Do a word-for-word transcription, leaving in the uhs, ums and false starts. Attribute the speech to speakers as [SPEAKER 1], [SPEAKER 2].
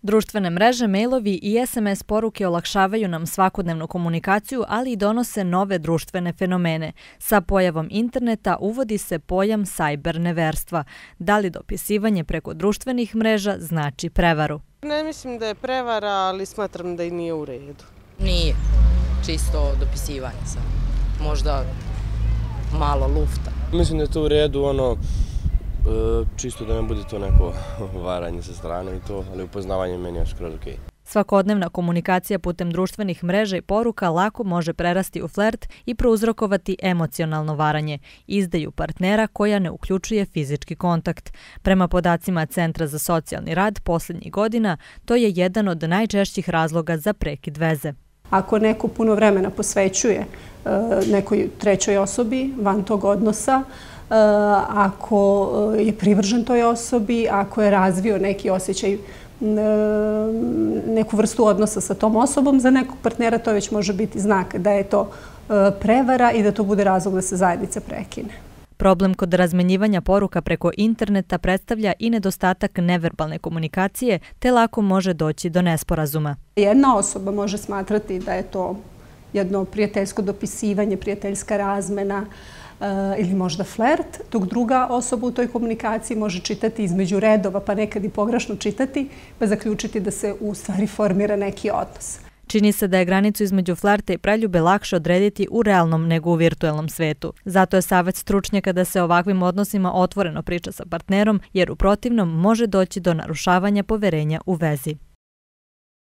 [SPEAKER 1] Društvene mreže, mailovi i es em es poruke olakšavaju nam svakodnevnu komunikaciju, ali i donose nove društvene fenomene. Sa pojavom interneta uvodi se pojam sajber neverstva. Da li dopisivanje preko društvenih mreža znači prevaru?
[SPEAKER 2] Ne mislim da je prevara, ali smatram da i nije u redu.
[SPEAKER 3] Nije. Čisto dopisivanje sam. Možda malo lufta.
[SPEAKER 4] Mislim da je to u redu, ono, čisto da ne bude to neko varanje sa strane i to, ali upoznavanje meni je skroz okej.
[SPEAKER 1] Svakodnevna komunikacija putem društvenih mreža i poruka lako može prerasti u flert i prouzrokovati emocionalno varanje, izdaju partnera koja ne uključuje fizički kontakt. Prema podacima Centra za socijalni rad posljednjih godina, to je jedan od najčešćih razloga za prekid veze.
[SPEAKER 5] Ako neko puno vremena posvećuje nekoj trećoj osobi van tog odnosa, ako je privržen toj osobi, ako je razvio neki osjećaj, neku vrstu odnosa sa tom osobom, za nekog partnera to već može biti znak da je to prevara i da to bude razlog da se zajednica prekine.
[SPEAKER 1] Problem kod razmenjivanja poruka preko interneta predstavlja i nedostatak neverbalne komunikacije, te lako može doći do nesporazuma.
[SPEAKER 5] Jedna osoba može smatrati da je to jedno prijateljsko dopisivanje, prijateljska razmena ili možda flert, dok druga osoba u toj komunikaciji može čitati između redova, pa nekad i pogrešno čitati, pa zaključiti da se u stvari formira neki odnos.
[SPEAKER 1] Čini se da je granicu između flerta i preljube lakše odrediti u realnom nego u virtuelnom svetu. Zato je savjet stručnjaka da se o ovakvim odnosima otvoreno priča sa partnerom, jer u protivnom može doći do narušavanja poverenja u vezi.